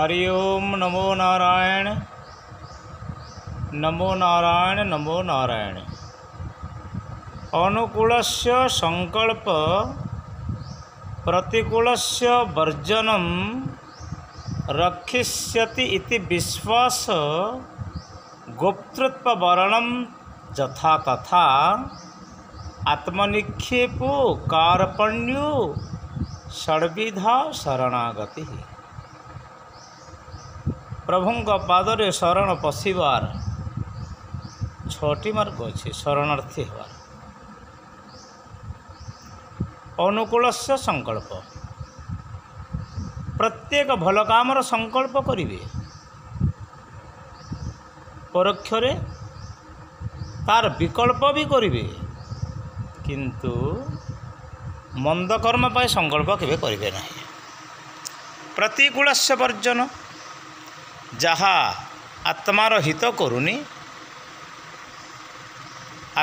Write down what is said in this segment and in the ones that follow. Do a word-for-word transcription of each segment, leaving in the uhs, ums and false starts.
ହରି ଓମ୍ ନମୋ ନାରାୟଣ, ନମୋ ନାରାୟଣ, ନମୋ ନାରାୟଣ। ଅନୁକୂଳସ୍ୟ ସଂକଳ୍ପ ପ୍ରତିକୂଳସ୍ୟ ବର୍ଜନମ୍ ରକ୍ଷିଷ୍ୟତି ଇତି ବିଶ୍ୱାସ ଗୋପ୍ତୃତ୍ୱ ବରଣମ୍ ଯଥା ତଥା ଆତ୍ମନିକ୍ଷେପୋ କାର୍ପଣ୍ୟୋ ଷଡ଼ବିଧା ଶରଣାଗତି। ପ୍ରଭୁଙ୍କ ପାଦରେ ଶରଣ ପଶିବାର ଛଅଟି ମାର୍ଗ ଅଛି ଶରଣାର୍ଥୀ ହେବାର। ଅନୁକୂଳସ୍ୟ ସଂକଳ୍ପ, ପ୍ରତ୍ୟେକ ଭଲ କାମର ସଂକଳ୍ପ କରିବେ, ପରୋକ୍ଷରେ ତାର ବିକଳ୍ପ ବି କରିବେ, କିନ୍ତୁ ମନ୍ଦ କର୍ମ ପାଇଁ ସଂକଳ୍ପ କେବେ କରିବେ ନାହିଁ। ପ୍ରତିକୂଳସ୍ୟ ବର୍ଜନ, ଯାହା ଆତ୍ମାର ହିତ କରୁନି,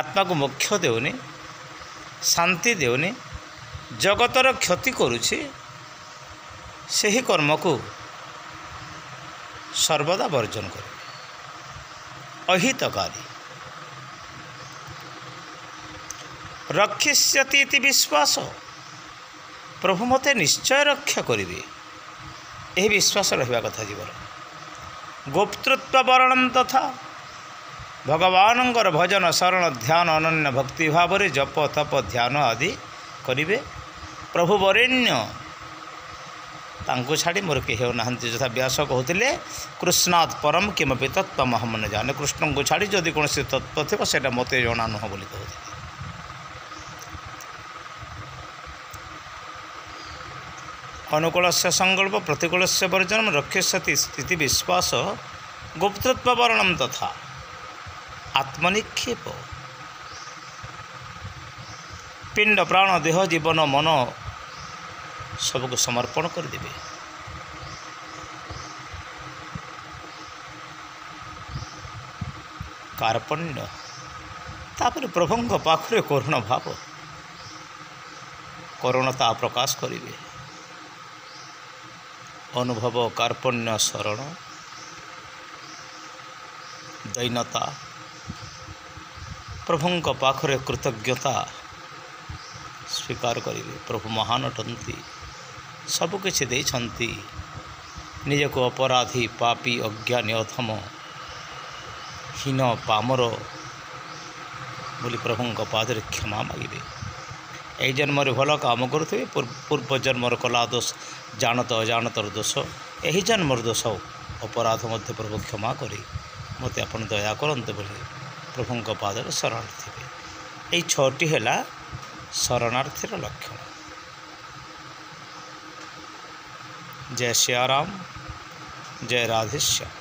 ଆତ୍ମାକୁ ମୋକ୍ଷ ଦେଉନି, ଶାନ୍ତି ଦେଉନି, ଜଗତର କ୍ଷତି କରୁଛି, ସେହି କର୍ମକୁ ସର୍ବଦା ବର୍ଜନ କରିବେ। ଅହିତକାରୀ ରକ୍ଷିଷ୍ୟତି ଇତି ବିଶ୍ୱାସ, ପ୍ରଭୁ ମୋତେ ନିଶ୍ଚୟ ରକ୍ଷା କରିବେ, ଏହି ବିଶ୍ୱାସ ରହିବା କଥା ଜୀବନ। ଗୋପ୍ତୃତ୍ୱ ବରଣମ୍ ତଥା, ଭଗବାନଙ୍କର ଭଜନ ଶରଣ ଧ୍ୟାନ ଅନନ୍ୟ ଭକ୍ତି ଭାବରେ ଜପ ତପ ଧ୍ୟାନ ଆଦି କରିବେ। ପ୍ରଭୁ ବରେଣ୍ୟ, ତାଙ୍କୁ ଛାଡ଼ି ମୋର କେହି ହେଉନାହାନ୍ତି। ଯଥା ବ୍ୟାସ କହୁଥିଲେ, କୃଷ୍ଣାତ୍ ପରମ କିମପି ତତ୍ତ୍ୱମହଂ ନ ଜାନେ, କୃଷ୍ଣଙ୍କୁ ଛାଡ଼ି ଯଦି କୌଣସି ତତ୍ତ୍ୱ ଥିବ ସେଇଟା ମୋତେ ଜଣା ନୁହଁ ବୋଲି କହୁଥିଲେ। ଅନୁକୂଳସ୍ୟ ସଂକଳ୍ପ ପ୍ରତିକୂଳସ୍ୟ ବର୍ଜନମ ରକ୍ଷିଷ୍ୟତି ସ୍ଥିତି ବିଶ୍ୱାସ ଗୁପ୍ତତ୍ୱ ବର୍ଣମ ତଥା ଆତ୍ମନିକ୍ଷେପ, ପିଣ୍ଡ ପ୍ରାଣ ଦେହ ଜୀବନ ମନ ସବୁକୁ ସମର୍ପଣ କରିଦେବେ। କାର୍ପଣ୍ୟ, ତାପରେ ପ୍ରଭୁଙ୍କ ପାଖରେ କରୁଣ ଭାବ, କରୁଣତା ପ୍ରକାଶ କରିବେ। ଅନୁଭବ କାର୍ପଣ୍ୟ ଶରଣ ଦୈନତା, ପ୍ରଭୁଙ୍କ ପାଖରେ କୃତଜ୍ଞତା ସ୍ୱୀକାର କରିବେ। ପ୍ରଭୁ ମହାନ ଅଟନ୍ତି, ସବୁକିଛି ଦେଇଛନ୍ତି, ନିଜକୁ ଅପରାଧୀ ପାପୀ ଅଜ୍ଞାନୀ ଅଧମ ହୀନ ପାମର ବୋଲି ପ୍ରଭୁଙ୍କ ପାଦରେ କ୍ଷମା ମାଗିବେ। ଏହି ଜନ୍ମରେ ଭଲ କାମ କରୁଥିବେ, ପୂର୍ବ ଜନ୍ମର କଲା ଦୋଷ ଜାଣତ ଅଜାଣତର ଦୋଷ, ଏହି ଜନ୍ମର ଦୋଷ ଅପରାଧ ମଧ୍ୟ ପ୍ରଭୁ କ୍ଷମା କରି ମୋତେ ଆପଣ ଦୟା କରନ୍ତୁ ବୋଲି ପ୍ରଭୁଙ୍କ ପାଦରେ ଶରଣ ଥିବେ। ଏହି ଛଅଟି ହେଲା ଶରଣାର୍ଥୀର ଲକ୍ଷଣ। ଜୟ ସିୟାରାମ, ଜୟ ରାଧେଶ୍ୟାମ।